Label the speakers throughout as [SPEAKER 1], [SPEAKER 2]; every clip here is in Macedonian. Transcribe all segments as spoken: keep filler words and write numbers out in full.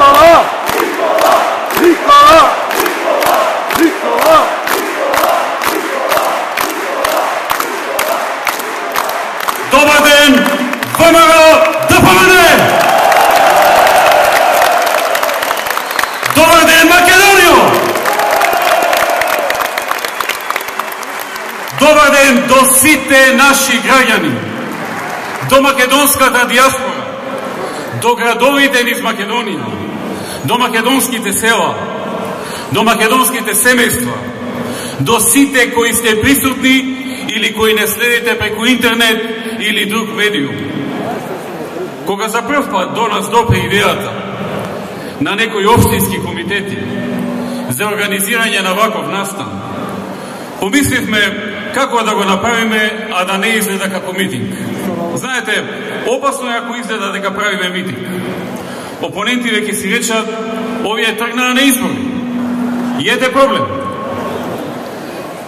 [SPEAKER 1] Никола! Никола! Никола!
[SPEAKER 2] Добар ден, ВМРО да победи! Добар ден, Македонија! Добар ден до сите наши граѓани, до македонската диаспора, до градовите низ Македонија, до македонските села, до македонските семејства, до сите кои сте присутни или кои не следите преку интернет или друг медиум. Кога за прв пат до нас допре идејата на некои општински комитети за организирање на ваков настан, помисливме како да го направиме, а да не изгледа како митинг. Знаете, опасно е ако изгледа дека правиме митинг. Опонентите ќе си речат, овие тргнаа на избори. И ете проблем.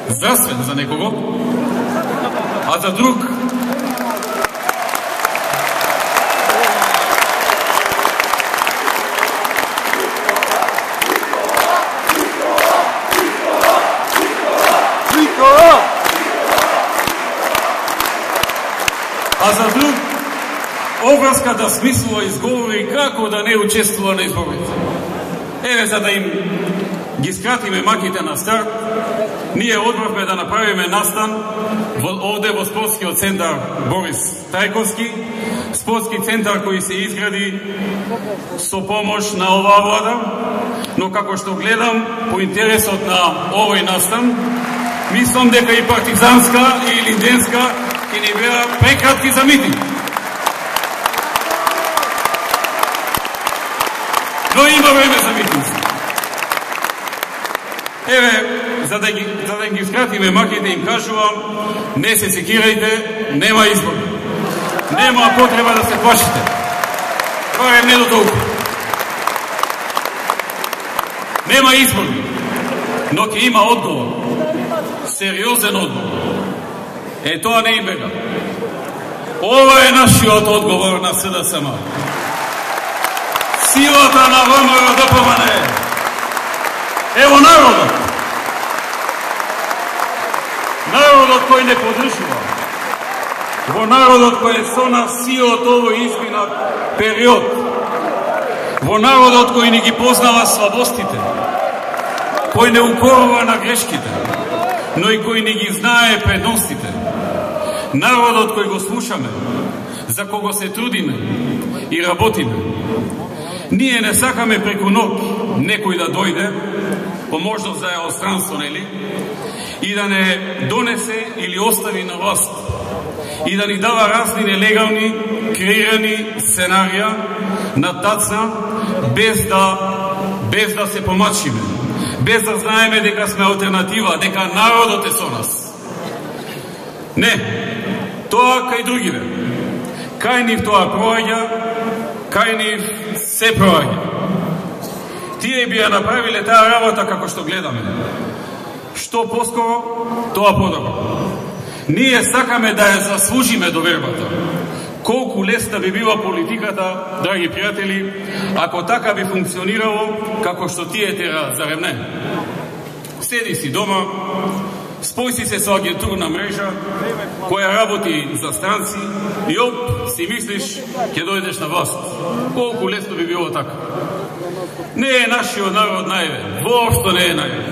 [SPEAKER 2] Здравствен за некого, а за друг а за друг обврска да смислува изговори како да не учествува на изборите. Еве, за да им ги скратиме маките на старт, ние одбравме да направиме настан овде во спортскиот центар Борис Трајковски, спортски центар кој се изгради со помош на оваа влада, но како што гледам по интересот на овој настан, мислам дека и партизанска и линденска ќе ни беа прекратки за митинг. Но има време за митинг. Еве, за да ги, за да ги скратиме маките, им кажувам, не се секирајте, нема избор. Нема потреба да се плашите. Барем не до толку. Нема избор, но ќе има одговор. Сериозен одговор. Е, тоа не им бега. Ова е нашиот одговор на СДСМ. Силата на ВМРО да победи. Ево народот. Народот кој не подржува. Во народот кој е со нас сиот овој изминат период. Во народот кој ни ги познава слабостите. Кој не укорува на грешките, но и кој не ги знае предностите. Народот кој го слушаме, за кого се трудиме и работиме. Ние не сакаме преку ног некој да дојде, по можност за странство, нели, и да не донесе или остави на власт, и да ни дава разни нелегални, креирани сценарија на тацна, без да, без да се помачиме, без да знаеме дека сме алтернатива, дека народот е со нас. Не, тоа кај другиве. Кај нив тоа проаѓа, кај нив се проаѓа. Тие би ја направиле таа работа како што гледаме. Што поскоро, тоа подобро. Ние сакаме да ја заслужиме довербата. Колку лесна би била политиката, драги пријатели, ако така би функционирало како што тие тера за ремне. Седи си дома, спој си се со агентурна мрежа која работи за странци и оп, си мислиш ќе дојдеш на власт. Колку лесно би било така. Не е нашиот народ наивен, воопшто не е наивен.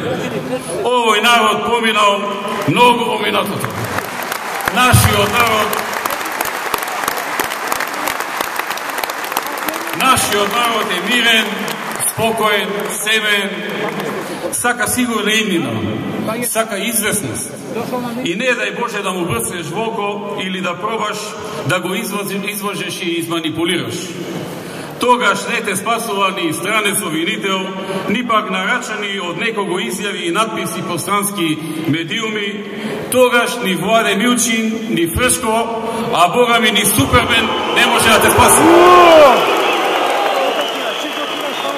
[SPEAKER 2] Овој народ поминал многу во минатото. Нашиот народ Нашиот народ е мирен, спокоен, семен, сака сигурна иднина, сака известност. И не дај Боже да му брцнеш во око или да пробаш да го излажеш и изманипулираш. Тогаш не те спасува ни странец обвинител, ни пак нарачани од некого изјави и надписи по странски медиуми, тогаш ни Владе Милчин, ни Фршко, а Бога ми ни Супермен не може да те спаси.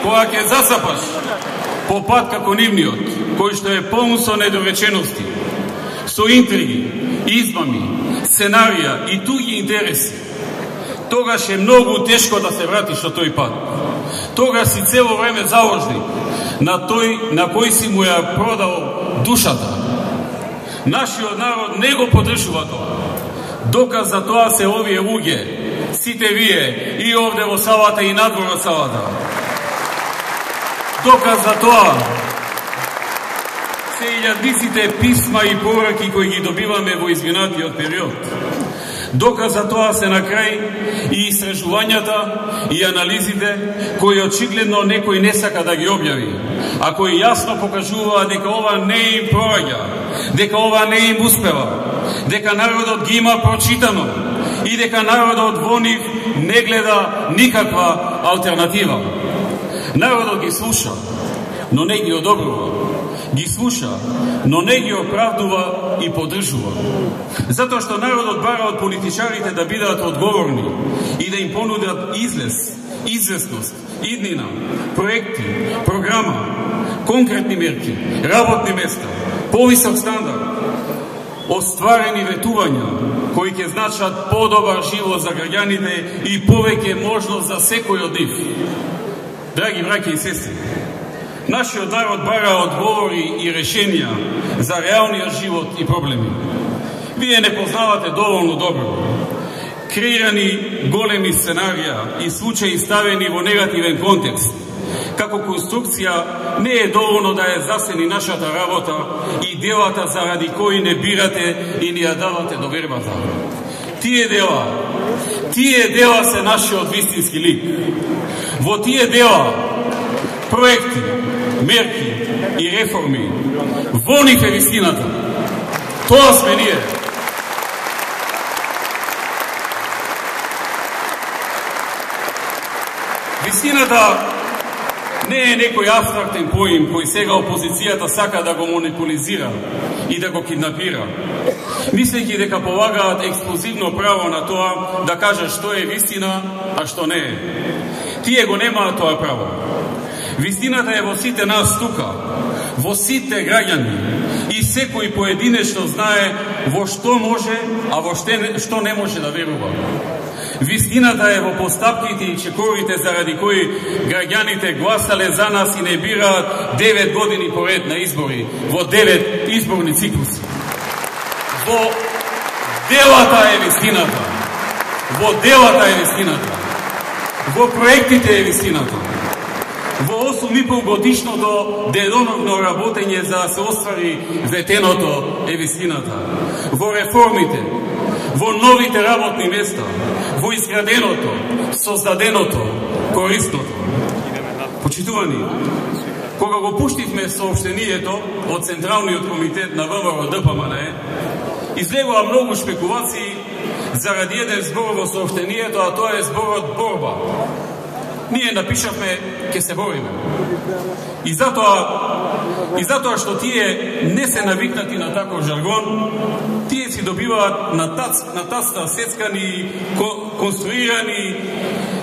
[SPEAKER 2] Кога ќе засапаш по пат како нивниот, кој што е полн со недоречености, со интриги, измами, сценарија и туги интереси, тогаш е многу тешко да се вратиш од тој пат. тогаш си цело време заложник на тој на кој си му ја продал душата. Нашиот народ не го поддржува тоа. Доказ за тоа се овие луѓе, сите вие, и овде во салата и надвор од салата. Доказ за тоа се илјадниците писма и пораки кои ги добиваме во изминатиот период. Доказ за тоа се на крај и истражувањата и анализите кои очигледно некој не сака да ги објави, а кои јасно покажуваат дека ова не им проаѓа, дека ова не им успева, дека народот ги има прочитано и дека народот во нив не гледа никаква алтернатива. Народот ги слуша, но не ги одобрува. Ги слуша, но не ги оправдува и поддржува. Затоа што народот бара од политичарите да бидат одговорни и да им понудат излез, известност, иднина, проекти, програма, конкретни мерки, работни места, повисок стандард, остварени ветувања кои ќе значат подобар живот за граѓаните и повеќе можност за секој од нив. Драги браќи и сестри, нашиот народ бара одговори и решенија за реалниот живот и проблеми. Вие не познавате доволно добро креирани големи сценарија и случаи ставени во негативен контекст. Како конструкција не е доволно да ја засени нашата работа и делата заради кои не бирате и ни ја давате довербата. Тие дела, тие дела се нашиот вистински лик. Во тие дела, проекти, мерки и реформи, во нив е вистината. Тоа сме ние. Вистината не е некој абстрактен поим кој сега опозицијата сака да го монополизира и да го киднапира, мислејќи дека полагаат ексклузивно право на тоа да кажат што е вистина, а што не е. Тие го немаат тоа право. Вистината е во сите нас тука, во сите граѓани, и секој поединечно знае во што може, а во што не може да верува. Вистината е во постапките и чекорите заради кои граѓаните гласале за нас и не бираат девет години поред на избори, во девет изборни циклуси. Во делата е вистината. Во делата е вистината. Во проектите е вистината. Во осум и пол годишното деноновно работење за да се оствари ветеното е вистината. Во реформите, во новите работни места, во изграденото, создаденото, корисното. Почитувани, кога го пуштивме соопштението од Централниот комитет на ВМРО Д П М Н Е, излегува многу шпекулации заради еден збор во соопштението, а тоа е зборот борба. Ние напишавме ке се бориме. И затоа, и затоа што тие не се навикнати на таков жаргон, тие си добиваат на тац, на таста сецкани, конструирани,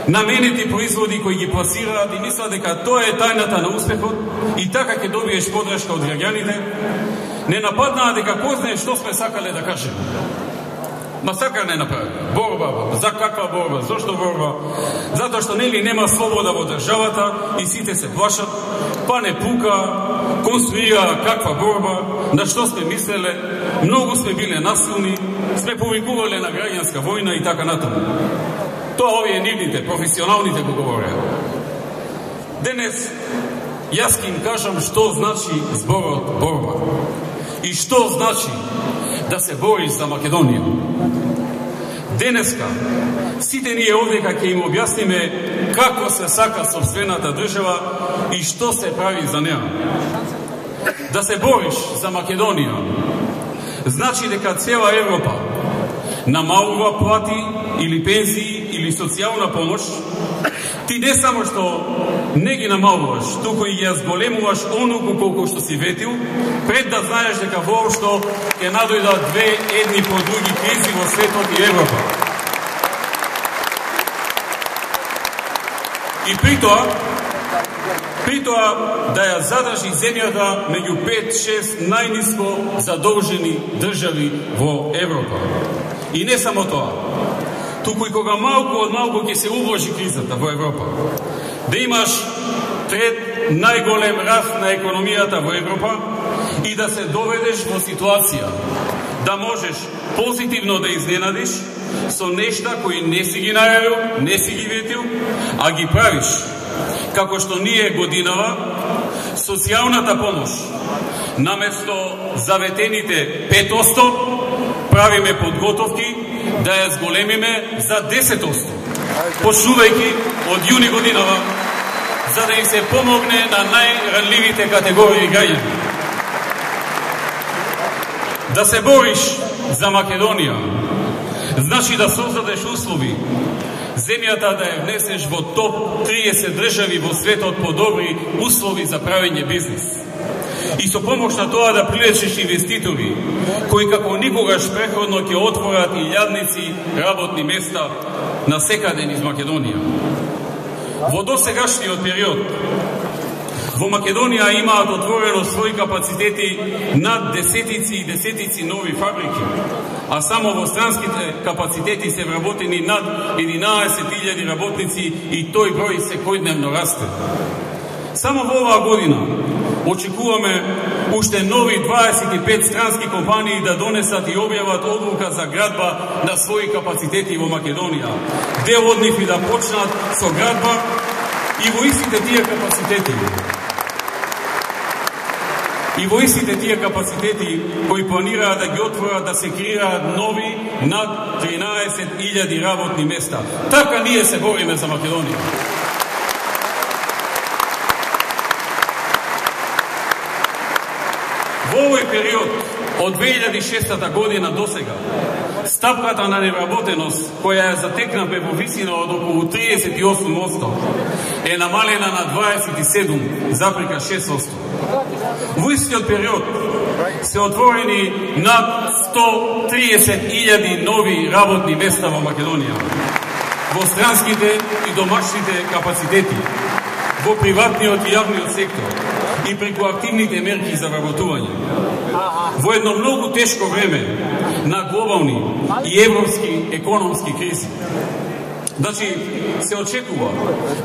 [SPEAKER 2] наменети производи кои ги пласираат и мислат дека тоа е тајната на успехот и така ќе добиеш подршка од граѓаните. Не нападнаа дека кој знае што сме сакале да кажеме. Масакар не направи. Борба. За каква борба? Зошто борба? Затоа што нели нема слобода во државата и сите се плашат, па не пука, конструира каква борба, на што сме мислеле, многу сме биле насилни, сме повикувале на граѓанска војна и така натаму. Тоа овие нивните, професионалните го говореа. Денес јас ќе им кажам што значи зборот борба и што значи да се бориш за Македонија. Денеска, сите ние овдека ќе им објасниме како се сака сопствената држава и што се прави за неа. Да се бориш за Македонија значи дека цела Европа намалува плати или пензии или социјална помош, ти не само што не ги намалуваш, туку и ја зголемуваш онолку колку што си ветил, пред да знаеш дека воопшто ќе надојдат две едни по други кризи во светот и Европа. И при тоа, при тоа да ја задржи земјата меѓу пет-шест најниско задолжени држави во Европа. И не само тоа, туку и кога малку од малку ќе се убложи кризата во Европа, да имаш трет најголем раст на економијата во Европа и да се доведеш во ситуација да можеш позитивно да изненадиш со нешта кои не си ги најавил, не си ги ветил, а ги правиш. Како што ние годинава, социјалната помош, наместо заветените пет одсто, правиме подготовки да ја зголемиме за десет одсто, почнувајќи од јуни годинава, за да им се помогне на најранливите категории граѓани. Да се бориш за Македонија, значи да создадеш услови земјата да ја внесеш во топ триесет држави во светот по добри услови за правење бизнес. И со помош на тоа да привлечеш инвеститори, кои како никогаш преходно ќе отворат илјадници работни места на секаден из Македонија. Во досегашниот период, во Македонија имаат отворено своји капацитети над десетици и десетици нови фабрики, а само во странските капацитети се вработени над единаесет илјади работници и тој број секојдневно расте. Само во оваа година очекуваме уште нови дваесет и пет странски компании да донесат и објават одлука за градба на своји капацитети во Македонија. Дел од нив и да почнат со градба и во истите тие капацитети. И во истите тие капацитети кои планираат да ги отворат да се креираат нови над тринаесет илјади работни места. Така ние се бориме за Македонија. Во овој период, од две илјади и шеста година до сега, стапката на невработеност, која ја затекнавме во висина од околу триесет и осум одсто, е намалена на дваесет и седум запрека шест одсто. Во истиот период се отворени над сто триесет илјади нови работни места во Македонија, во странските и домашните капацитети, во приватниот и јавниот сектор и преку активните мерки за вработување. Во едно многу тешко време на глобални и европски економски кризи. Значи, се очекува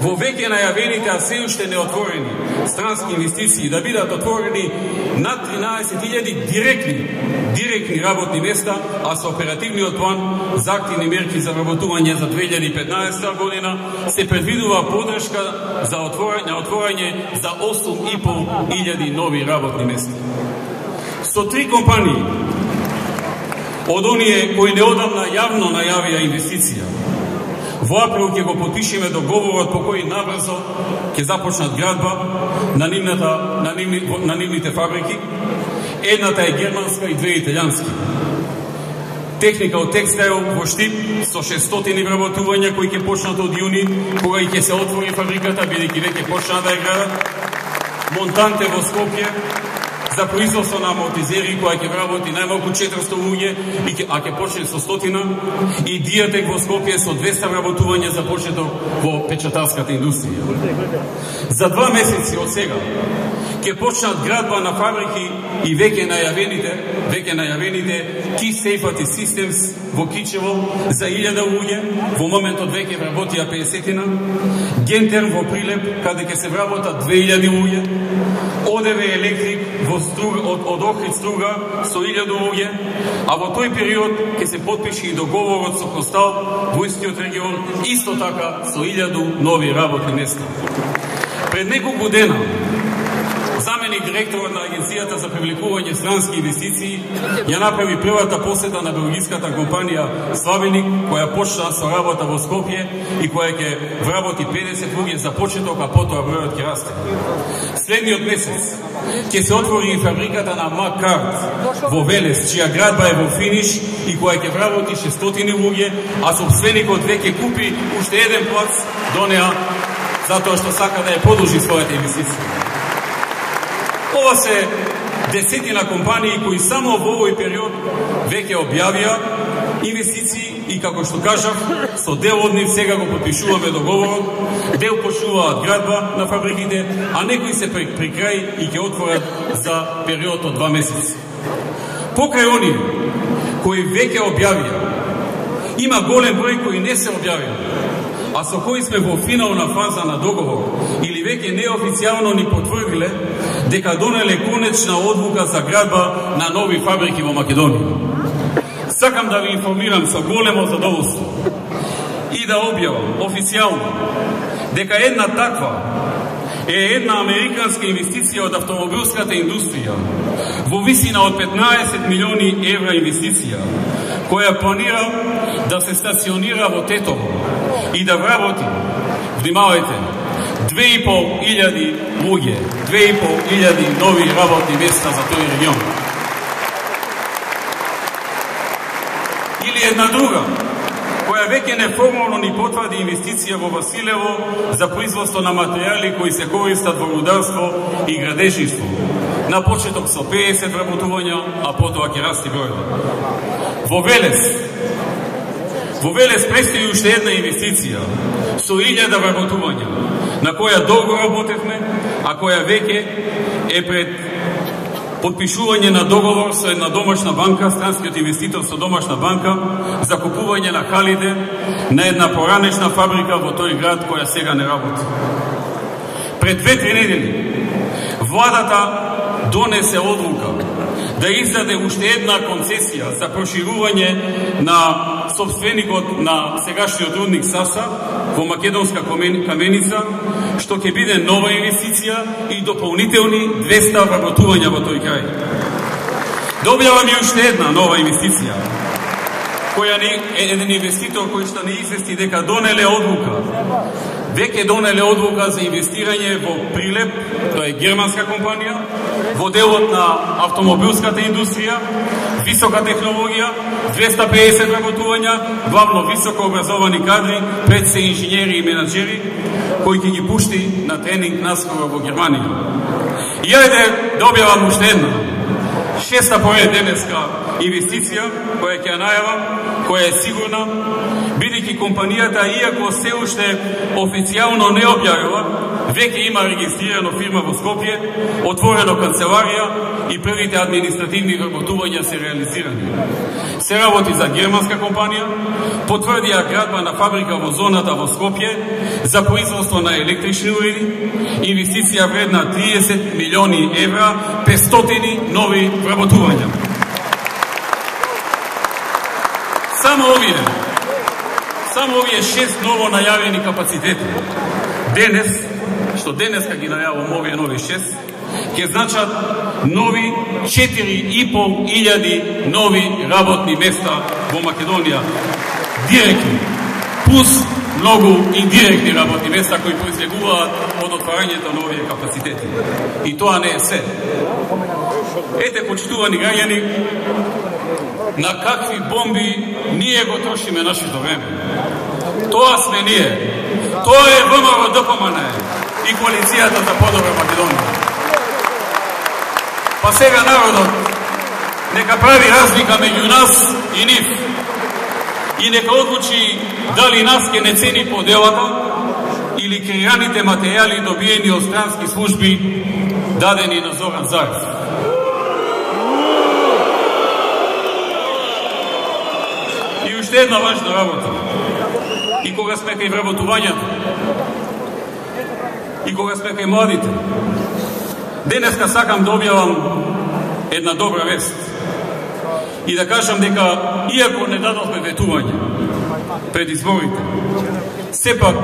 [SPEAKER 2] во веќе најавените, а се уште неотворени странски инвестиции да бидат отворени над тринаесет илјади директни, директни работни места, а со оперативниот план за активни мерки за вработување за две илјади и петнаесета година се предвидува подршка за отворање, отворање за осум и пол илјади нови работни места. Со три компании од оние кои неодамна јавно најавија инвестиција, во април ќе го потпишеме договорот по кој набрзо ќе започнат градба на, нивната, на, нивни, на нивните фабрики. Едната е германска и две италијански. Техника од текстайл во Штип со шестстотини вработувања кои ќе почнат од јуни, кога и ќе се отвори фабриката, бидејќи веќе почнаа да ја градат. Монтанте во Скопје за производство на амортизери која ќе вработи најмалку четиристо луѓе, а ќе почне со стотина, и Диатек во Скопје со двеста вработувања за почеток во печатарската индустрија. За два месеци од сега ќе почнат градба на фабрики и веќе најавените, веќе најавените Key Safety Systems во Кичево за илјада луѓе, во моментот веќе вработија педесетина, Гентер во Прилеп, каде ќе се вработат две илјади луѓе, ОДВ Електрик во Струга, од, од Охрид Струга со илјада луѓе, а во тој период ќе се потпише и договорот со Костал во истиот регион, исто така со илјаду нови работни места. Пред неколку дена заменик директорот на Агенцијата за привлекување странски инвестиции ја направи првата посета на белгиската компанија Славеник, која почна со работа во Скопје и која ќе вработи педесет луѓе за почеток, а потоа бројот ќе расте. Следниот месец ќе се отвори и фабриката на Маккарт во Велес, чија градба е во финиш и која ќе вработи шестстотини луѓе, а собственикот веќе купи уште еден плац до неа, затоа што сака да ја продолжи својата инвестиција. Ова се десетина компании кои само во овој период веќе објавија инвестиции и, како што кажав, со дел од нив сега го потпишуваме договорот, дел почнуваат градба на фабриките, а некои се при, при крај и ќе отворат за период од два месеци. Покрај оние кои веќе објавија, има голем број кои не се објавија, а со кои сме во финална фаза на договор или веќе неофицијално ни потврдиле дека донеле конечна одлука за градба на нови фабрики во Македонија. Сакам да ви информирам со големо задоволство и да објавам официјално дека една таква е една американска инвестиција од автомобилската индустрија во висина од петнаесет милиони евра инвестиција, која планира да се стационира во Тетово и да вработи, внимавајте, две и пол илјади луѓе, две и пол илјади нови работни места за тој регион. Или една друга, која веќе неформално ни потврди инвестиција во Василево за производство на материјали кои се користат во рударство и градежништво. На почеток со педесет вработувања, а потоа ќе расти бројот. Во Велес, во Велес предстои уште една инвестиција со илјада вработувања, на која долго работевме, а која веќе е пред подпишување на договор со една домашна банка, странскиот инвеститор со домашна банка, за купување на халите на една поранешна фабрика во тој град која сега не работи. Пред две-три недели владата донесе одлука да издаде уште една концесија за проширување на собственикот на сегашниот рудник Саса во Македонска каменица, што ќе биде нова инвестиција и дополнителни двеста вработувања во тој крај. Да објавам и уште една нова инвестиција, која ни е еден инвеститор кој што не извести дека донеле одлука, веќе донеле одлука за инвестирање во Прилеп, тоа е германска компанија, во делот на автомобилската индустрија, висока технологија, двеста педесет работувања, главно високо образовани кадри, пред се инженери и менаџери, кои ќе ги пушти на тренинг наскоро во Германија. И ајде да објавам уште една, шеста поред денеска инвестиција, која ќе ја најавам, која е сигурна, бидејќи компанијата, иако се уште официјално не објавила, веќе има регистрирано фирма во Скопје, отворено канцеларија и првите административни вработувања се реализирани. Се работи за германска компанија, потврдија градба на фабрика во зоната во Скопје за производство на електрични уреди, инвестиција вредна триесет милиони евра, петстотини нови вработувања. Само овие, само овие шест ново најавени капацитети, денес, што денеска ги најавам овие нови шест, ќе значат нови четири и пол илјади нови работни места во Македонија. Директни, плюс многу индиректни работни места кои произлегуваат од отварањето на овие капацитети. И тоа не е се. Ете, почитувани граѓани, на какви бомби ние го трошиме нашето време. Тоа сме ние. Тоа е ВМРО-ДПМН и коалицијата за подобра Македонија. Па сега народот нека прави разлика меѓу нас и нив и нека одлучи дали нас ке не цени поделата или креираните материјали добиени од странски служби дадени на Зоран Заев. И уште една важна работа. И кога сме кај вработувањето, и кога сме кај младите, денеска сакам да објавам една добра вест и да кажам дека, иако не дадовме ветување пред изборите, сепак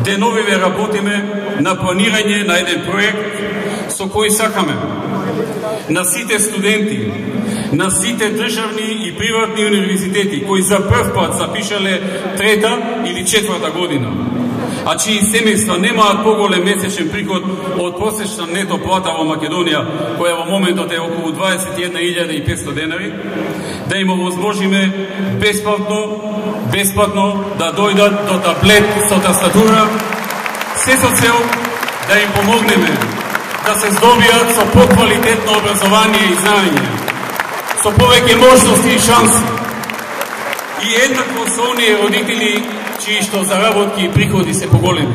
[SPEAKER 2] деновиве работиме на планирање на еден проект со кој сакаме на сите студенти, на сите државни и приватни универзитети кои за прв пат запишале трета или четврта година, а чии семејства немаат поголем месечен приход од просечна нето плата во Македонија, која во моментот е околу дваесет и една илјада и петстотини денари, да им овозможиме бесплатно, бесплатно да дојдат до таблет со тастатура, се со цел да им помогнеме да се здобијат со поквалитетно образование и знаење, со повеќе можности и шанси. И еднакво со оние родители чии што заработки и приходи се поголеми.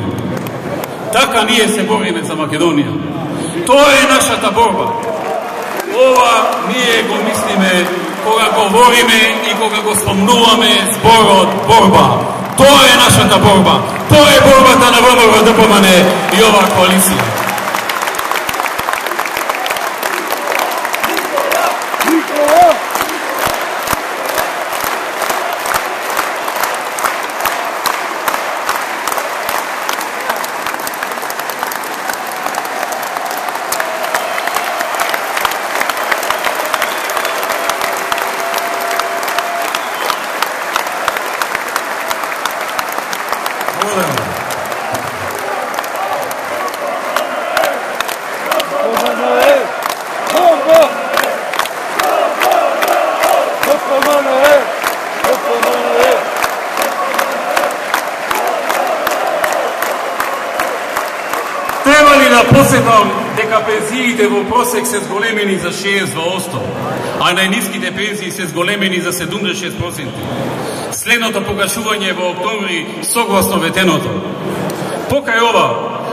[SPEAKER 2] Така ние се бориме за Македонија. Тоа е нашата борба. Ова ние го мислиме кога говориме и кога го спомнуваме зборот борба. Тоа е нашата борба. Тоа е борбата на ВМРО Д П М Н и оваа коалиција. Треба ли да посетам дека пензиите во просек се зголемени за шеесет одсто, а најниските пензии се зголемени за седумдесет и шест проценти? Следното покажување во октомври согласно ветеното. Покрај ова,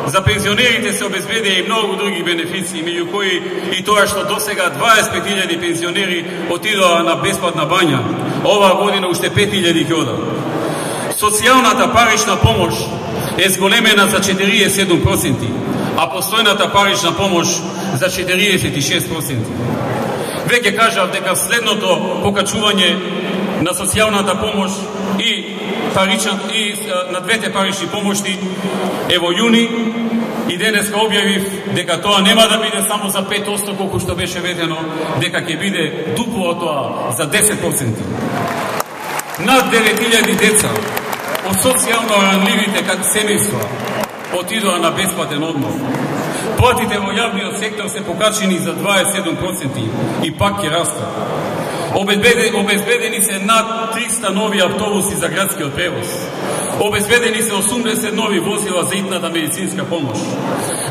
[SPEAKER 2] за пензионерите се обезбедија и многу други бенефиции, меѓу кои и тоа што досега дваесет и пет илјади пензионери отидоа на бесплатна бања, оваа година уште пет илјади ќе одат. Социјалната парична помош е зголемена за четириесет и седум проценти, а постојната парична помош за четириесет и шест проценти. Веќе кажав дека следното покачување на социјалната помош и парична и на двете парични помошти е во јуни и денеска објавив дека тоа нема да биде само за пет одсто колку што беше ветено, дека ќе биде дупло од тоа за десет проценти. Над девет илјади деца од социјално ранливите семејства отидоа на бесплатен одмор. Платите во јавниот сектор се покачени за дваесет и седум проценти и пак ќе растат. Обезбедени се над триста нови автобуси за градскиот превоз. Обезбедени се осумдесет нови возила за итната медицинска помош.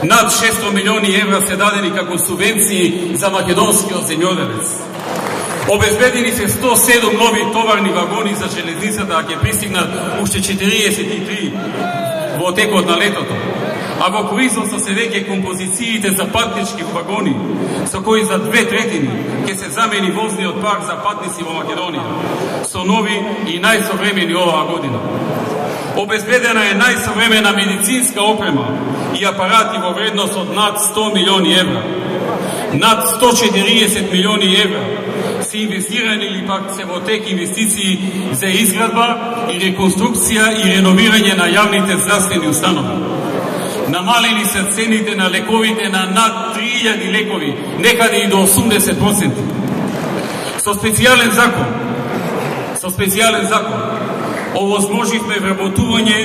[SPEAKER 2] Над шесто милиони евра се дадени како субвенции за македонскиот земјоделец. Обезбедени се сто и седум нови товарни вагони за железницата, а ќе пристигнат уште четириесет и три во текот на летото. А во производство се веќе композициите за патнички вагони, со кои за две третини ќе се замени возниот парк за патници во Македонија, со нови и најсовремени оваа година. Обезбедена е најсовремена медицинска опрема и апарати во вредност од над сто милиони евра. Над сто и четириесет милиони евра се инвестирани или пак се во тек инвестиции за изградба и реконструкција и реновирање на јавните здравствени установи. Намалени се цените на лековите на над три илјади лекови, некаде и до осумдесет проценти. Со специјален закон, со специјален закон, овозможивме вработување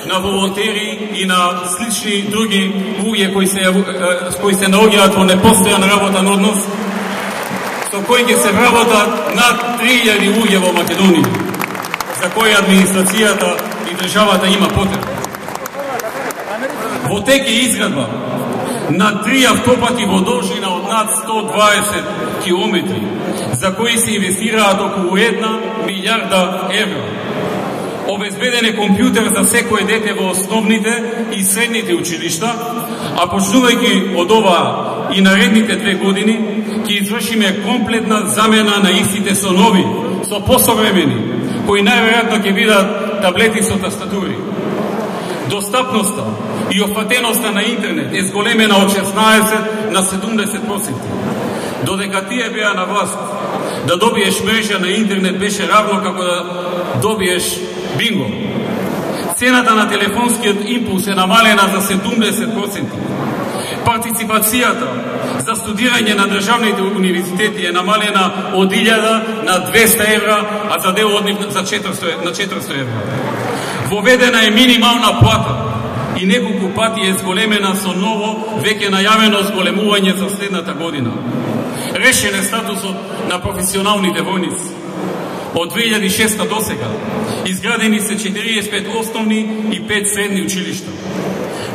[SPEAKER 2] на волонтери и на слични други луѓе кои се кои се наоѓаат во непостојан работен однос, со кои ќе се вработат над три илјади луѓе во Македонија, за кои администрацијата и државата има потреба. Во тек е изградба на три автопати во должина од над сто и дваесет километри, за кои се инвестираат околу една милијарда евра. Обезбеден е компјутер за секое дете во основните и средните училишта, а почнувајќи од ова и наредните две години, ќе извршиме комплетна замена на истите со нови, со посовремени, кои најверојатно ќе бидат таблети со тастатури. Достапноста и опфатеноста на интернет е зголемена од шеснаесет на седумдесет проценти. Додека тие беа на власт, да добиеш мрежа на интернет беше равно како да добиеш бинго. Цената на телефонскиот импулс е намалена за седумдесет проценти. Партиципацијата за студирање на државните универзитети е намалена од илјада на двеста евра, а за дел од нив за четиристо, на четиристо евра. Воведена е минимална плата и неколку пати е зголемена со ново, веќе најавено зголемување за следната година. Решен е статусот на професионалните војници. Од две илјади и шеста до сега изградени се четириесет и пет основни и пет средни училишта.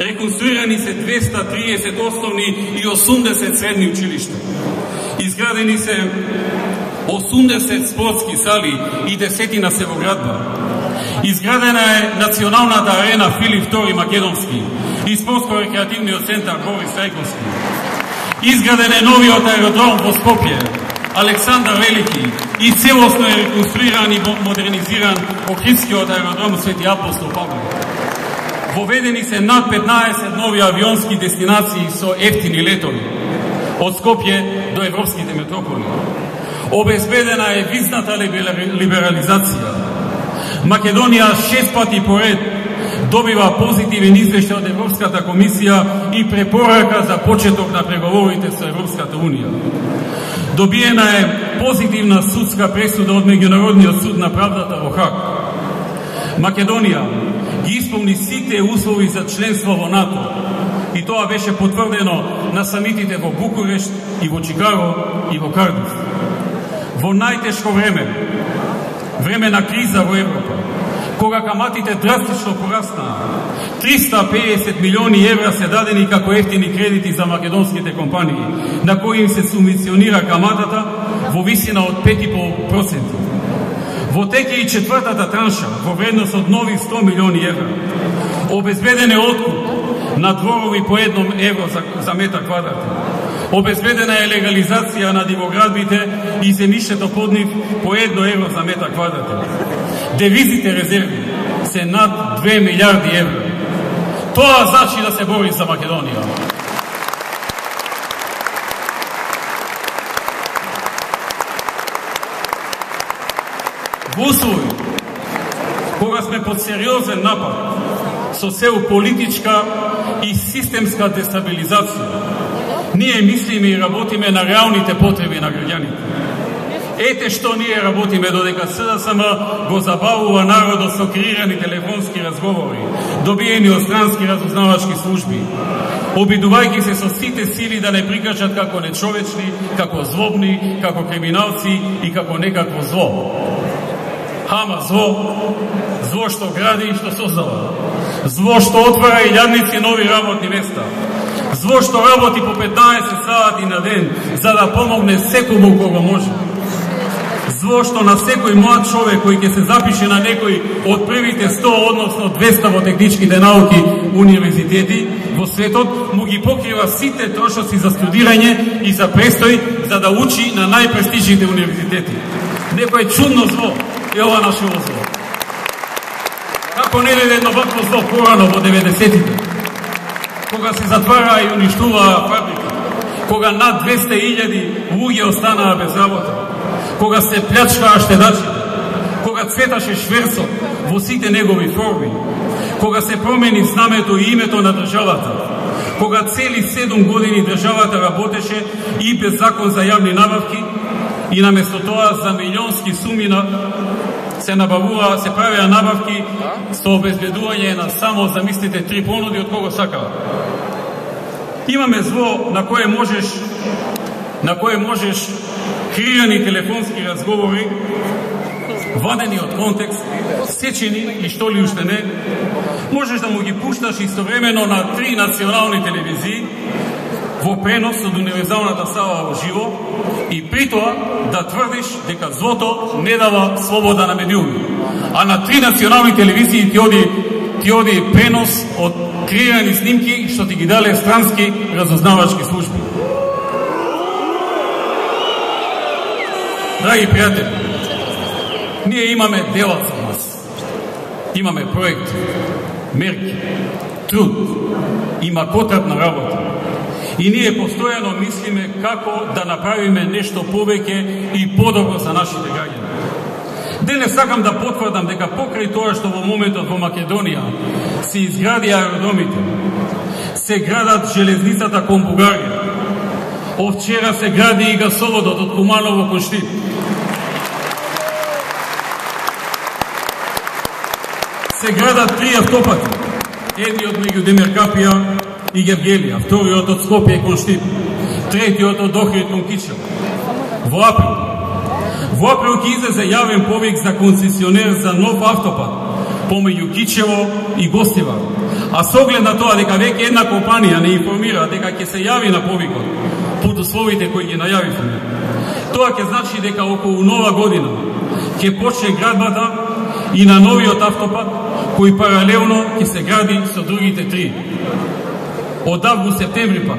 [SPEAKER 2] Реконструирани се двеста и триесет основни и осумдесет средни училишта. Изградени се осумдесет спортски сали и десетина севоградба. Изградена е националната арена Филип втори Македонски и спортско-рекреативниот центар Борис Трајковски. Изграден е новиот аеродром во Скопје, Александар Велики и целосно е реконструиран и модернизиран Охридскиот аеродром Свети Апостол Павле. Воведени се над петнаесет нови авионски дестинации со ефтини летови од Скопје до европските метрополи. Обезбедена е визната либерализација. Македонија шест пати поред добива позитивен извештај од Европската комисија и препорака за почеток на преговорите со Европската унија. Добиена е позитивна судска пресуда од Меѓународниот суд на правдата во Хаг. Македонија ги исполни сите услови за членство во НАТО и тоа беше потврдено на самитите во Букурешт и во Чикаго и во Кардиф. Во најтешко време, време на криза во Европа, кога каматите драстично пораснаа, триста педесет милиони евра се дадени како ефтини кредити за македонските компании, на кои им се субвенционира каматата во висина од пет и пол проценти. Во теке и четвртата транша, во вредност од нови сто милиони евра, обезбеден е откуп на дворови по едно евро за, за метар квадратен. Обезбедена е легализација на дивоградбите и земјиштето под нив по едно евро за метар квадратен. Девизите резерви се над две милиарди евра. Тоа значи да се бори за Македонија. Во услови кога сме под сериозен напад со цел политичка и системска дестабилизација, ние мислиме и работиме на реалните потреби на граѓаните. Ете што ние работиме додека СДСМ го забавува народот со креирани телефонски разговори, добиени од странски разузнавачки служби, обидувајќи се со сите сили да не прикажат како нечовечни, како злобни, како криминалци и како некакво зло. Ама зло, зло што гради и што создава, зло што отвара илјадници нови работни места, зло што работи по петнаесет сати на ден за да помогне секому кого може, зло што на секој млад човек кој ќе се запише на некој од првите сто, односно двеста во техничките науки универзитети во светот, му ги покрива сите трошоци за студирање и за престој за да учи на најпрестижните универзитети. Некој чудно зло е ова нашето зло. Како не е едно вакво зло порано во деветдесетите, кога се затвара и уништува фабрика, кога над двеста илјади луѓе останаа без работа, кога се плячкаа штедачите, кога цветаше шверсот во сите негови форми, кога се промени знамето и името на државата, кога цели седум години државата работеше и без закон за јавни набавки и наместо тоа за милионски суми на се набавува, се правеа набавки со обезбедување на само, замислите, три понуди од кого сакава. Имаме зло на кое можеш на кое можеш креирани телефонски разговори, вадени од контекст, сечени и што ли уште не, можеш да му ги пушташ истовремено на три национални телевизии во пренос од универзалната сала во живо и при тоа да тврдиш дека злото не дава слобода на медиуми. А на три национални телевизии ти оди, ти оди пренос од креирани снимки што ти ги дале странски разузнавачки служби. Драги пријатели, ние имаме делат за нас. Имаме проект, мерки, труд, има потребна работа. И ние постојано мислиме како да направиме нешто повеќе и подобро за нашите граѓани. Денес сакам да потврдам дека покрај тоа што во моментот во Македонија се изгради аеродромите, се градат железницата кон Бугарија, овчера се гради и гасоводот од Куманово кон Штип. Се градат три автопати, едниот меѓу Демиркапија и Гевгелија, вториот од Скопје кон Штип, третиот од Охрид кон Кичел. Во април, во април ќе излезе јавен повик за концесионер за нов автопат помеѓу Кичево и Гостивар. А со оглед на тоа дека веќе една компанија не информира дека ќе се јави на повикот под условите кои ги најавивме, тоа ќе значи дека околу нова година ќе почне градбата и на новиот автопат, кој паралелно ќе се гради со другите три. Од август-септември пак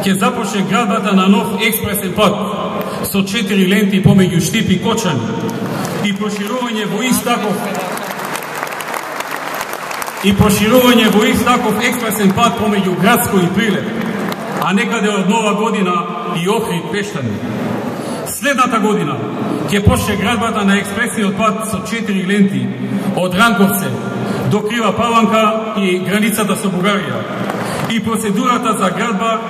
[SPEAKER 2] ќе започне градбата на нов експресен пат, со четири ленти помеѓу Штип и Кочани и проширување во ист таков и проширување во ист таков експресен пат помеѓу Градско и Прилеп, а некаде од нова година и Охрид Пештани. Следната година ќе почне градбата на експресниот пат со четири ленти од Ранковце до Крива Паланка и границата со Бугарија и процедурата за градба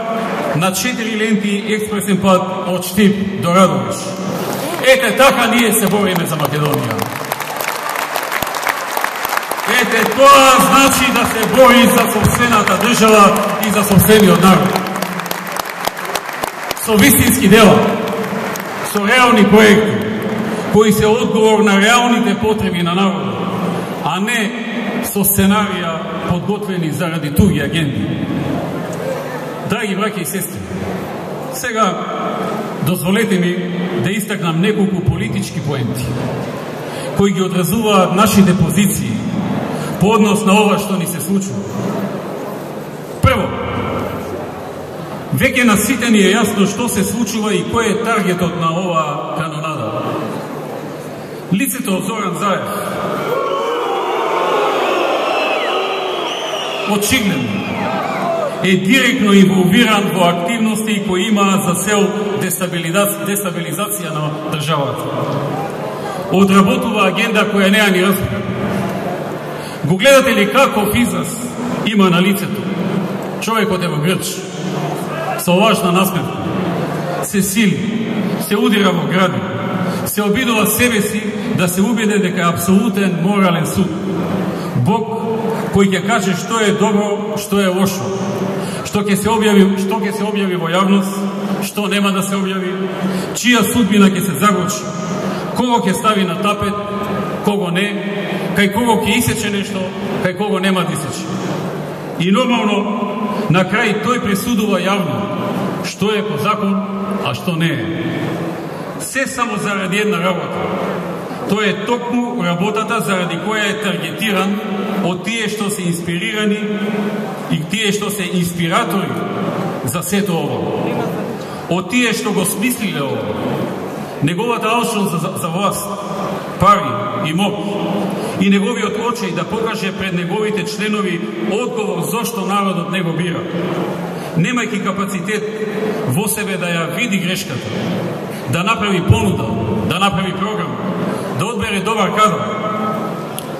[SPEAKER 2] на четири ленти експресен пат од Штип до Радовиш. Ете така ние се бориме за Македонија. Ете тоа значи да се бори за собствената држава и за собствениот народ. Со вистински дела, со реални проекти, кои се одговор на реалните потреби на народот, а не со сценарија подготвени заради туги агенти. Драги браќа и сестри, сега дозволете ми да истакнам неколку политички поенти, кои ги одразуваат нашите позиции по однос на ова што ни се случува. Прво, веќе на сите ни е јасно што се случува и кој е таргетот на оваа канонада. Лицето Зоран Заев очигледно е директно инволвиран во активности кои имаат за цел дестабилизација на државата. Одработува агенда која не ја ни разбира. Го гледате ли каков израз има на лицето? Човекот е во грч, со лажна насмевка, се сили, се удира во гради, се обидува себе си да се убеде дека е апсолутен морален суд. Бог кој ќе каже што е добро, што е лошо, што ќе се објави, што ќе се објави во јавност, што нема да се објави, чија судбина ќе се загочи, кого ќе стави на тапет, кого не, кај кого ќе исече нешто, кај кого нема да исече. И нормално, на крај тој пресудува јавно што е по закон, а што не е. Се само заради една работа. Тоа е токму работата заради која е таргетиран од тие што се инспирирани и тие што се инспиратори за сето ово. Од тие што го смислиле ово. Неговата алчност за, за власт, пари и моќ и неговиот очеј да покаже пред неговите членови одговор зошто народот не го бира. Немајќи капацитет во себе да ја види грешката, да направи понуда, да направи програм, да одбере добар кадар,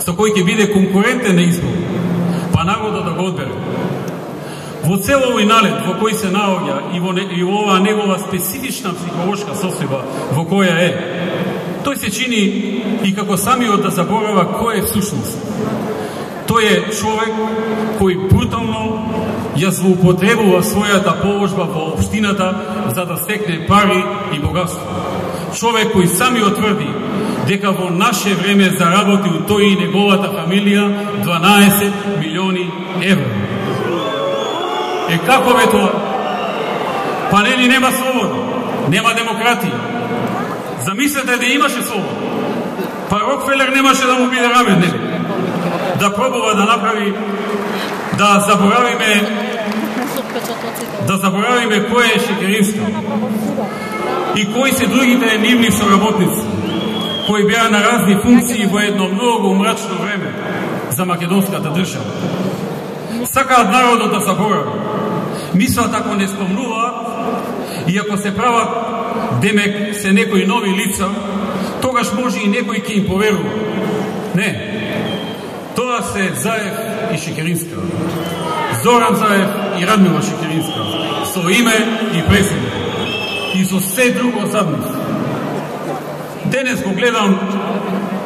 [SPEAKER 2] со кој ќе биде конкурентен на избор, па народот да го одбере. Во цел овој налет во кој се наоѓа и во, не, и во оваа негова специфична психолошка состојба во која е, тој се чини и како самиот да заборава кој е всушност. Тој е човек кој брутално ја злоупотребува својата положба во општината за да стекне пари и богатство. Човек кој самиот тврди дека во наше време заработил тој и неговата фамилија дванаесет милиони евра. Е како бе тоа? Па нели нема слобода, нема демократија. Замислете да имаше слобода. Па Рокфелер немаше да му биде рамен, нели? Да пробува да направи, да заборавиме, да заборавиме кој е Шекеринска и кои се другите нивни соработници, кои беа на разни функции во едно многу мрачно време за македонската држава. Сакаат народот да заборави. Мислат ако не спомнуваат и ако се прават демек се некои нови лица, тогаш може и некој ќе им поверува. Не. Тоа се Заев и Шекеринска. Зоран Заев и Радмила Шекеринска. Со име и презиме. И со се друго зад нив. Денес го гледам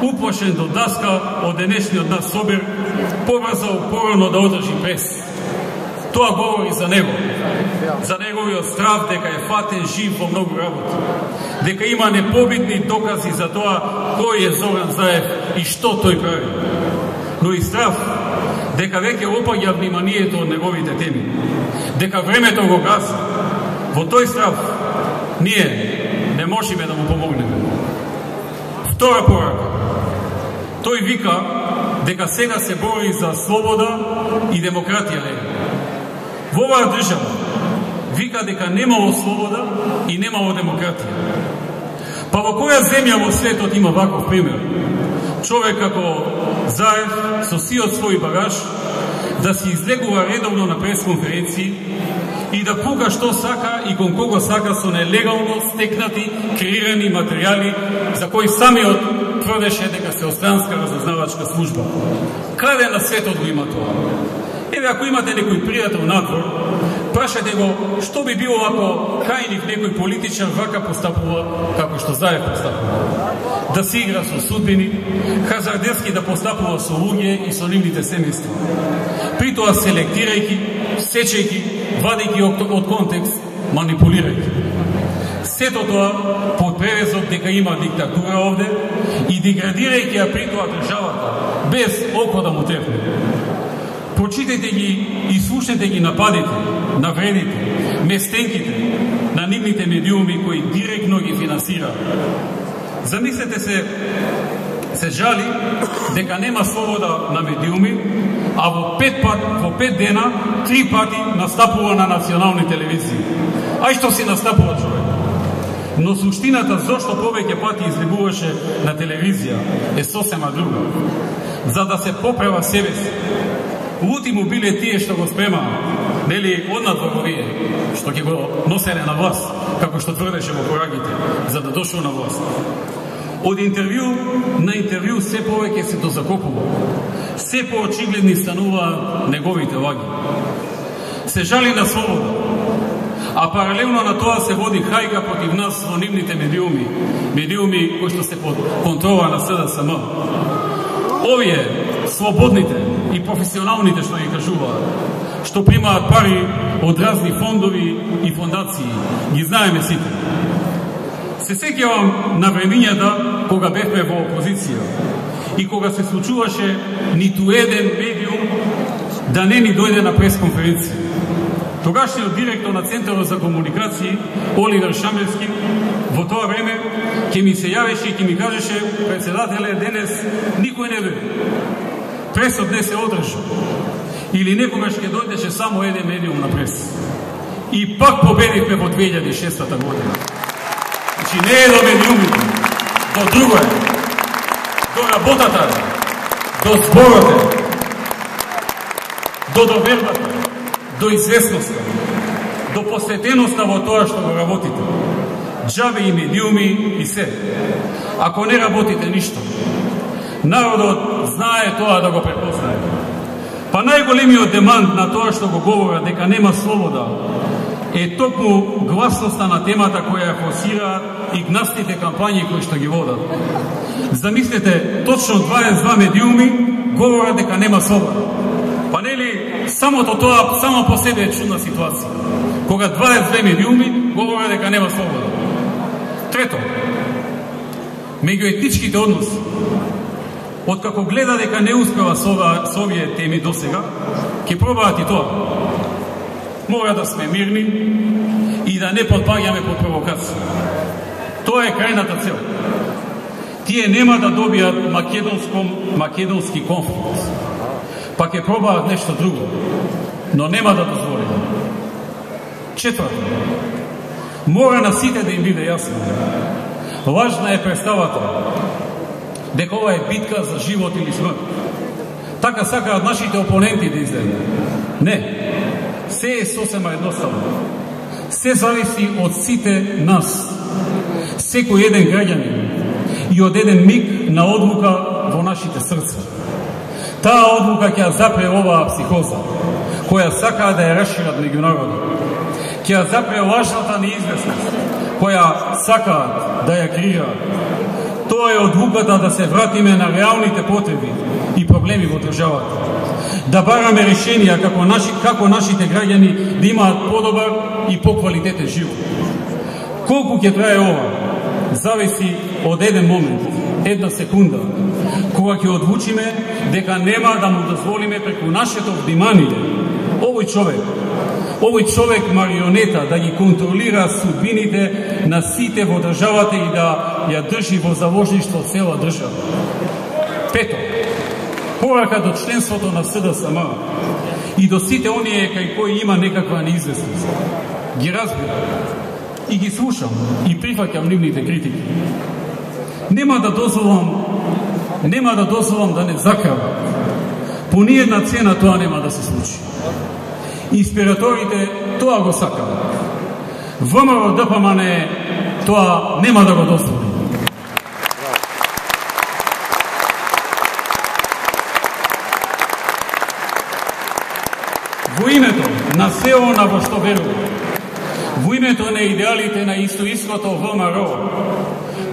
[SPEAKER 2] уплашен до даска од денешниот нас собер, побрзал порано да одржи прес. Тоа говори за него, за неговиот страв дека е фатен жив во многу работи, дека има непобитни докази за тоа кој е Зоран Заев и што тој прави. Но и страв дека веќе опаѓа вниманието од неговите теми, дека времето го гаси. Во тој страв ние не можеме да му помогнеме. Втора порака. Тој вика дека сега се бори за слобода и демократија. Во оваа држава вика дека немало слобода и немало демократија. Па во која земја во светот има ваков пример? Човек како Заев со сиот свој багаж да се излегува редовно на пресконференции и да пука што сака и кон кого сака со нелегално стекнати, креирани материјали за кои самиот тврдеше дека се странска разузнавачка служба. Каде на светот го има тоа? Еве, ако имате некој пријател надвор, прашајте го што би било ако кајник некој политичар вака постапува како што Заев постапува. Да се игра со судбини, хазардерски да постапува со луѓе и со нивните семејства. При тоа селектирајќи, сечејќи, вадејќи од контекст, манипулирајќи. Сето тоа под превезот дека има диктатура овде и деградирајќи ја при тоа државата, без око да му трепне. Прочитајте ги и слушнете ги нападите, навредите, местенките на нивните медиуми кои директно ги финансираат. Замислете се, се жали дека нема слобода на медиуми, а во пет, пат, во пет дена, три пати настапува на национални телевизии. Ај што си настапува човек. Но суштината зошто повеќе пати излегуваше на телевизија е сосема друга. За да се поправа себе си. Лути му биле тие што го спремаа, нели однадвор овие, што ќе го носеле на власт, како што тврдеше во порагите, за да дошол на власт. Од интервју на интервју се повеќе се дозакопува, се поочигледни стануваат неговите лаги. Се жали на слобода, а паралелно на тоа се води хајка против нас во нивните медиуми, медиуми кои што се под контрола на С Д С М. Овие, слободните и професионалните што ги кажуваат, што примаат пари од разни фондови и фондации, ги знаеме сите. Се сеќавам на времињата кога бевме во опозиција и кога се случуваше ниту еден медиум да не ни дојде на пресконференција. Тогашниот директор на Центарот за комуникации, Оливер Шамерски, во тоа време ќе ми се јавеше и ќе ми кажеше: председателе, денес никој не дојде. Пресот не се одржа. Или некогаш ќе дојдеше само еден медиум на прес. И пак победивме во две илјади и шеста година. Значи не е до медиумите, до друго е. До работата, до зборот, до довербата, до известноста, до посветеноста во тоа што го работите. Джабе и медиуми и се. Ако не работите ништо, народот знае тоа да го препознае. Па најголемиот демант на тоа што го говорат дека нема слобода е токму гласноста на темата која ја форсираат и гнастите кампањи кои што ги водат. Замислете, точно дваесет и два медиуми говорат дека нема слобода. Па нели самото тоа само по себе е чудна ситуација, кога дваесет и две медиуми говорат дека нема слобода. Трето, меѓуетничките односи. Откако гледа дека не успева со овие теми досега, ќе пробаат и тоа. Мора да сме мирни и да не подпаѓаме под провокација. Тоа е крајната цел. Тие нема да добијат македонски конфликт, па ќе пробаат нешто друго, но нема да дозволиме. Четврто, мора на сите да им биде јасно. Важна е представата дека ова е битка за живот или смрт. Така сакаат нашите опоненти да изгледа. Не, се е сосема едноставно. Се зависи од сите нас. Секој еден граѓанин и од еден миг на одлука во нашите срца. Таа одлука ќе ја запре оваа психоза, која сакаат да ја расшират меѓу народот. Ќе ја запре лажната неизвестност, која сакаат да ја креираат. Тоа е одлуката да се вратиме на реалните потреби и проблеми во државата. Да бараме решенија како, наши, како нашите граѓани да имаат подобар и поквалитетен живот. Колку ќе трае ова, зависи од еден момент, една секунда, кога ќе одлучиме дека нема да му дозволиме преку нашето внимание овој човек, овој човек марионета да ги контролира судбините на сите во државата и да ја држи во заложништво цела држава. Пето, порака до членството на С Д С М и до сите оние кај кои има некаква неизвестност. Ги разбира. и ги слушам и прифаќам нивните критики. Нема да дозволам, нема да дозволам да не закрават. По ниедна цена тоа нема да се случи. Инспираторите тоа го сакаат. ВМРО Д П М Н тоа нема да го дозволи. Во името на се она во што верува, во името на идеалите на истоиското ВМРО,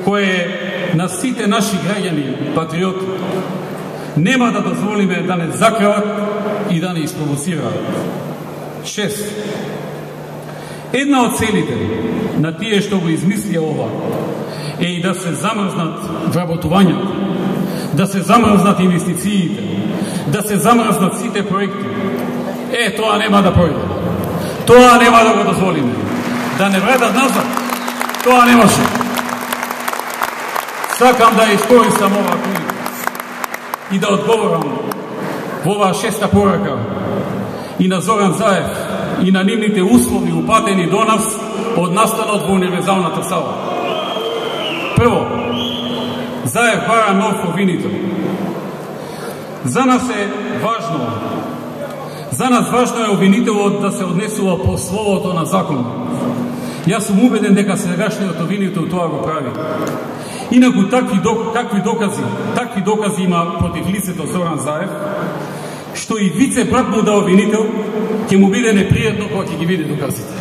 [SPEAKER 2] кое е на сите наши граѓани патриоти, нема да дозволиме да не закрават и да не испровоцираат. Шест. Една од целите на тие што го измислија ова е и да се замрзнат вработувањата, да се замрзнат инвестициите, да се замрзнат сите проекти. Е, тоа нема да пројде. Тоа нема да го дозволиме. Да не вредат назад, тоа не може. Сакам да искористам ова прилика и да одговорам во оваа шеста порака и на Зоран Заев и на нивните услови упатени до нас од настанот во универзалната сала. Прво, Заев бара нов обвинител. За нас е важно За нас важно е обвинителот да се однесува по словото на закон. Јас сум убеден дека сегашниот обвинител тоа го прави. Инаку такви док, какви докази, такви докази има против лицето Зоран Заев, што и вице брат му да обвинител ќе му биде непријатно кога ќе ги види доказите.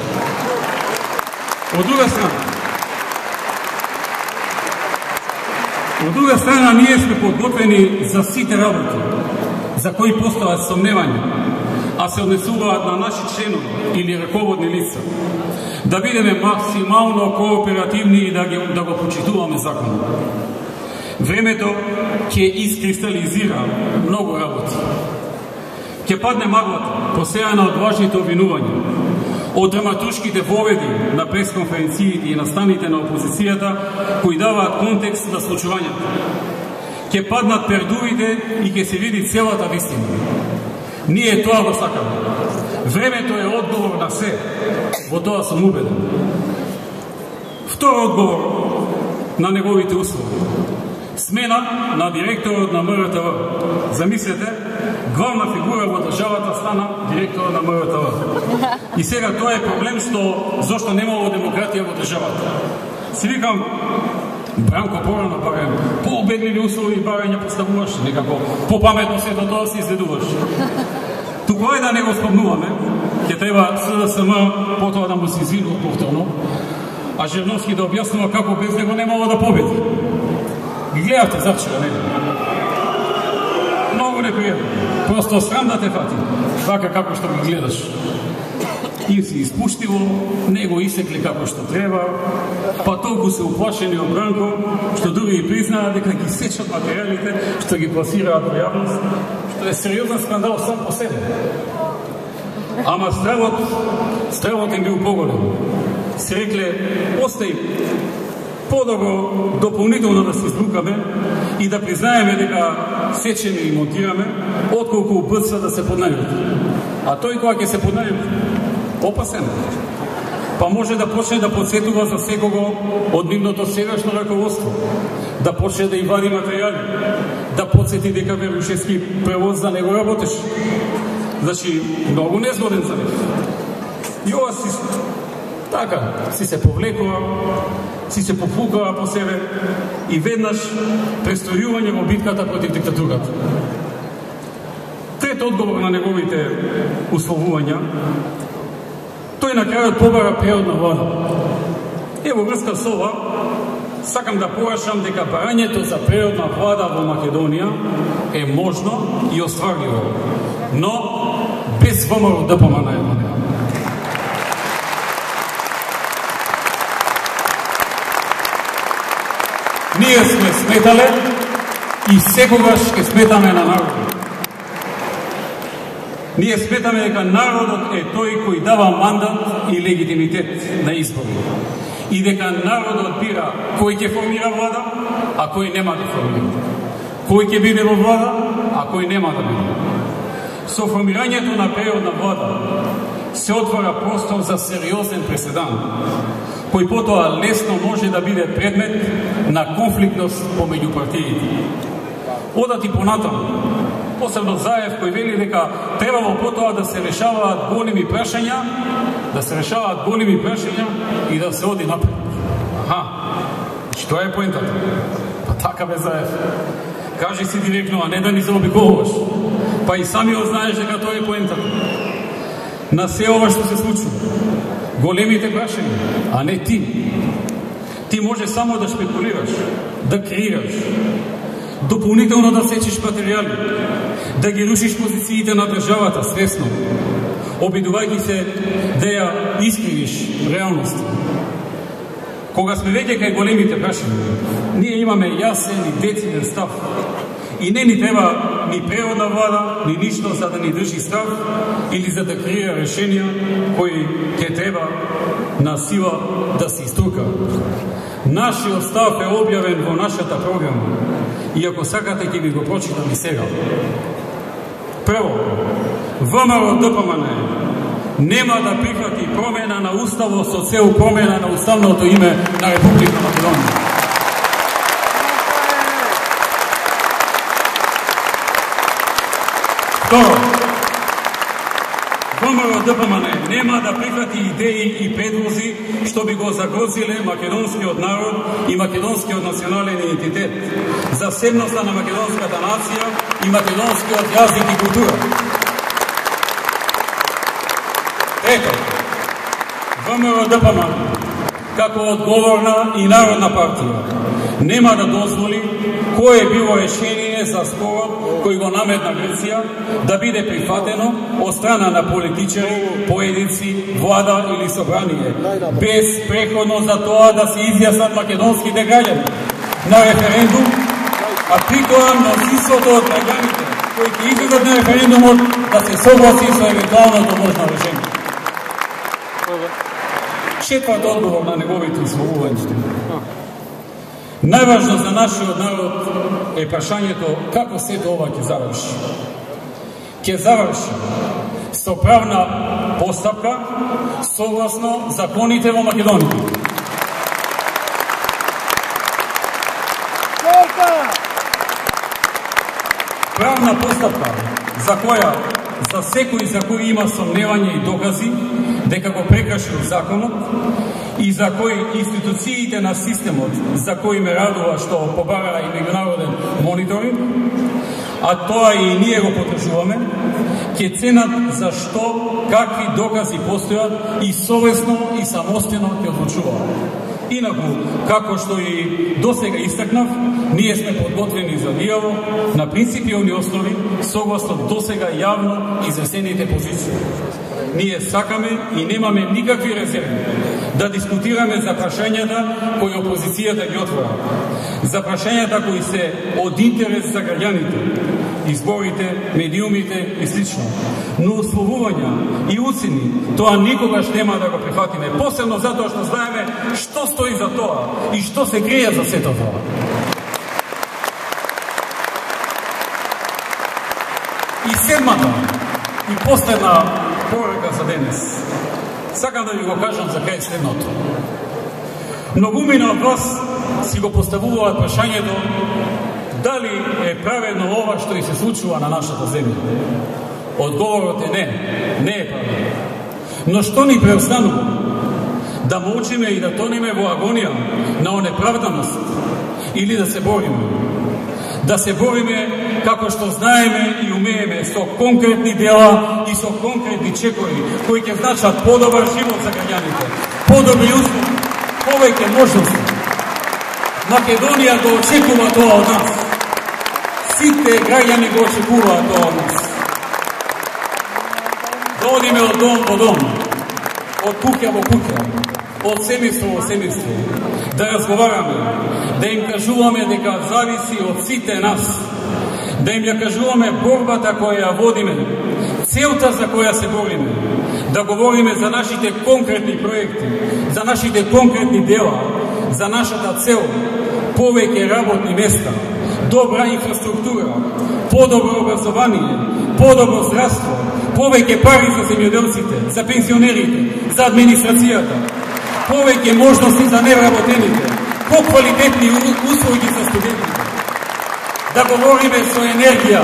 [SPEAKER 2] Од друга страна, од друга страна ние сме подготвени за сите работи за кои постојат сомневања, а се однесуваат на наши членови или раководни лица, да бидеме максимално кооперативни и да, ги, да го почитуваме законот. Времето ќе искристализира многу работи. Ќе падне маглата, посејана од важните обвинувања, од драматуршките воведи на пресконференциите и настаните на опозицијата, кои даваат контекст на случувањето. Ќе паднат пердувите и ќе се види целата вистина. Ние тоа го сакаме. Времето е одговор на се. Во тоа сум убеден. Втор одговор на неговите услови. Смена на директорот на М Р Т В. Замислете, главна фигура во државата стана директор на М Р Т В. И сега тоа е проблем што зошто немало демократија во државата. Си викам, Бранко порано барем, по-обедливи услови барање поставуваш, некако по-паметно сето тоа се изследуваш. Туку е да не го спомнуваме, ќе треба С Д С М потоа да му се извинува повторно, а Жерновски да објаснува како без него немало да победи. Ги гледавте завчера, не? Многу непријатно. Просто срам да те фати, така како што ги гледаш. Им се испуштило, не го исекли како што треба, па толку се уплашени од Бранко, што други и признаат дека ги сечат материјалите, што ги пласираат во јавност, што е сериозен скандал сам по себе. Ама стравот, стравот им бил поголем. Се рекле, остај подобро дополнително да се избрукаме и да признаеме дека сечеме и монтираме, отколку бърза да се поднајдат. А тој кога ќе се поднајдат, опасен. Па може да почне да подсетува за секого од нивното сегашно раководство, да почне да им вади материјали, да подсети дека Верушевски превоз за него работеше. Значи, многу незгоден за него. И ова си, така, си се повлекува, си се попукава по себе и веднаш престојување во битката против диктатурата. Трет одговор на неговите условувања, тој на крајот побара преодна влада. Ево врска со ова, сакам да порашам дека барањето за преодна влада во Македонија е можно и остварливо, но без ВМРО Д П М Н. Ние сме сметале и секогаш ќе сметаме на народот. Ние сметаме дека народот е тој кој дава мандат и легитимитет на избори. И дека народот бира кој ќе формира влада, а кој нема да формира. Кој ќе биде во влада, а кој нема да биде. Со формирањето на преодна влада, се отвора простор за сериозен преседан, кој потоа лесно може да биде предмет на конфликтност помеѓу партиите. Одат и понатаму, посебно Заев, кој вели дека требало потоа да се решаваат големи прашања, да се решаваат големи прашања и да се оди напред. Аха, значи тоа е поентата. Па така бе, Заев. Кажи си директно, а не да ни заобиколуваш. Па и самиот знаеш дека тоа е поентата. На се ова што се случува, големите прашања, а не ти. Ти може само да шпекулираш, да креираш, дополнително да сечеш материјали, да ги рушиш позициите на државата свесно, обидувајќи се да ја искривиш реалност. Кога сме веќе кај големите прашања, ние имаме јасен и дециден став. И не ни треба ни преводна влада, ни ништо за да ни држи став или за да креира решенија кои ќе треба на сила да се иструка. Нашиот став е објавен во нашата програма и ако сакате ќе ви го прочитам и сега. Прво, ВМРО-ДПМН нема да прифати промена на уставот со цел промена на уставното име на Република Македонија. Второ, ВМРО-ДПМН нема да прифати идеи и предлози што би го загрозиле македонскиот народ и македонскиот национален идентитет, засебноста на македонската нација и македонскиот јазик и култура. Трето, ВМРО-ДПМН како одговорна и народна партија нема да дозволи кое било решение за спорот кој го наметна Грција да биде прифатено од страна на политичари, поединци, влада или собрание, без преходно за тоа да се изјаснат македонските граѓани на референдум, а при тоа мнозинството од граѓаните кои ќе излезат на референдумот да се согласи со евентуалното можно решение. Четврт одговор на неговите изборувања. Најважно за нашиот народ е прашањето како сето ова ќе заврши. Ќе заврши со правна постапка согласно законите во Македонија. Правна постапка за која за секој за кој има сомневање и докази дека го прекршил законот и за кој институциите на системот за кој ме радува што побара и меѓународен мониторинг, а тоа и ние го потребуваме, ќе ценат за што, какви докази постојат и совесно и самостојно ќе одлучуваат. Инаку, како што и досега истакнав, ние сме подготвени за диалог на принципиални основи согласно досега јавно изјаснените позиции. Ние сакаме и немаме никакви резерви да дискутираме за прашањата кои опозицијата ги отвора, за прашањата кои се од интерес за граѓаните, изборите, медиумите и слично. Но условувања и уцени тоа никогаш нема да го прифатиме, посебно затоа што знаеме што стои за тоа и што се крие за сето тоа. И седмата и последна порака за денес. Сакам да ви го кажам за кај следното. Многумина од вас си го поставуваат прашањето дали е праведно ова што и се случува на нашата земја. Одговорот е не, не е праведно. Но што ни преостанува? Да молчиме и да тонеме во агонија на онеправданост или да се бориме? Да се бориме како што знаеме и умееме со конкретни дела и со конкретни чекори кои ќе значат подобар живот за граѓаните, подобри услови, повеќе можности. Македонија го очекува тоа од нас. Сите граѓани го очекуваат тоа од нас. Да одиме од дом во дом, од куќа во куќа, од семејство во семејство, да разговараме, да им кажуваме дека зависи од сите нас, да им ја кажуваме борбата која ја водиме, целта за која се бориме, да говориме за нашите конкретни проекти, за нашите конкретни дела, за нашата цел, повеќе работни места, добра инфраструктура, подобро образование, подобро здравство, повеќе пари за земјоделците, за пензионерите, за администрацијата, повеќе можности за невработените, поквалитетни услуги за студентите. Да говориме со енергија,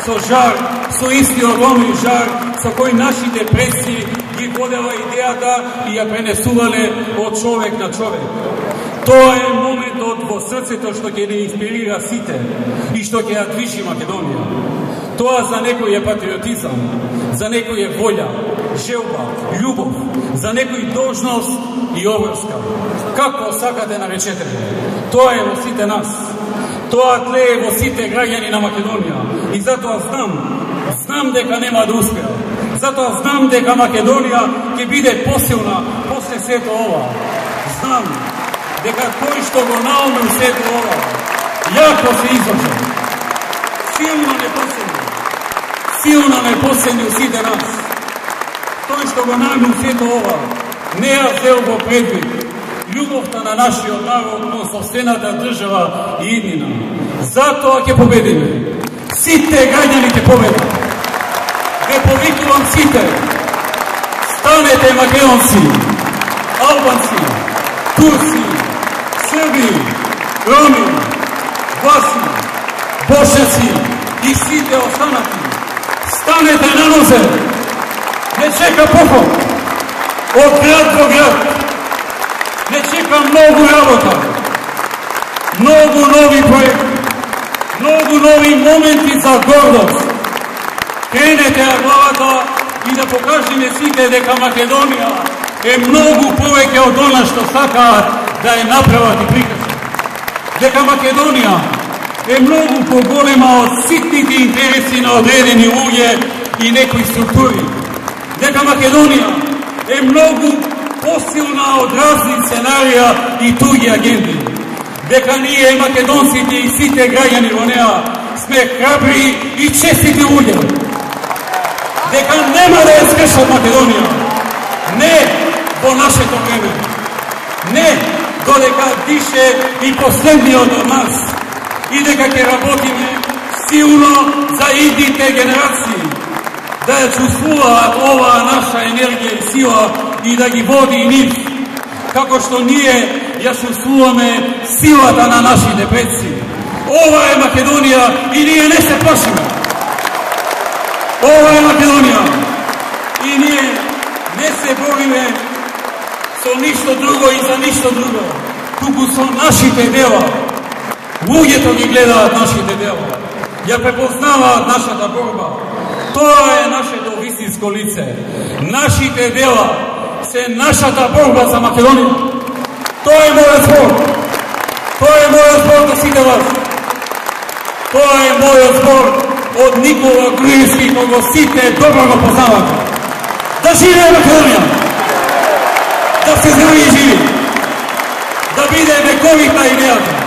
[SPEAKER 2] со жар, со истиот оној жар со кој нашите предци ги водела идејата и ја пренесувале од човек на човек. Тоа е моментот во срцето што ќе не инспирира сите и што ќе ја движи Македонија. Тоа за некој е патриотизам, за некој е волја, желба, љубов, за некој должност и обврска. Како сакате наречете го. Тоа е во сите нас. Тоа тлее во сите граѓани на Македонија. И затоа знам, знам дека нема да успеа. Затоа знам дека Македонија ќе биде посилна после сето ова. Знам дека тој што го наумил сето ова, јако се излажа. Силно не посилни. Силно не посилни сите нас. Тој што го наумил сето ова, не ја зел во предвид љубовта на нашиот народ, но собствената држава и иднина. Затоа ќе победиме. Сите граѓани ќе победат. Ве повикувам сите. Станете македонци, албанци, турци, срби, роми, власи, бошаци и сите останати. Станете на нозе. Не чека поход. Од град во град. Не чека многу работа, многу нови проекти, многу нови моменти за гордост. Кренете ја главата и да покажеме сите дека Македонија е многу повеќе од она што сакаат да ја направат и прикажат. Дека Македонија е многу поголема од ситните интереси на одредени луѓе и некои структури. Дека Македонија е многу посилна од разни сценарија и туѓи агенди. Дека ние, македонците и сите граѓани во неа, сме храбри и честити луѓе. Дека нема да ја скршат Македонија. Не во нашето време. Не додека дише и последниот од нас. И дека ќе работиме силно за идните генерации. Да ја чувствуваат оваа наша енергија и сила и да ги води и нив, како што ние ја чувствуваме силата на нашите предци. Ова е Македонија и ние не се плашиме. Ова е Македонија и ние не се бориме со ништо друго и за ништо друго, туку со нашите дела. Луѓето ги гледаат нашите дела, ја препознаваат нашата борба. Тоа е нашето вистинско лице. Нашите дела се нашата борба за Македонија. Тоа е мојот збор. Тоа е мојот збор до сите вас. Тоа е мојот збор од Никола Груевски, кого сите добро го познавате. Да живее Македонија! Да се здрави и живи! Да биде вековита идејата!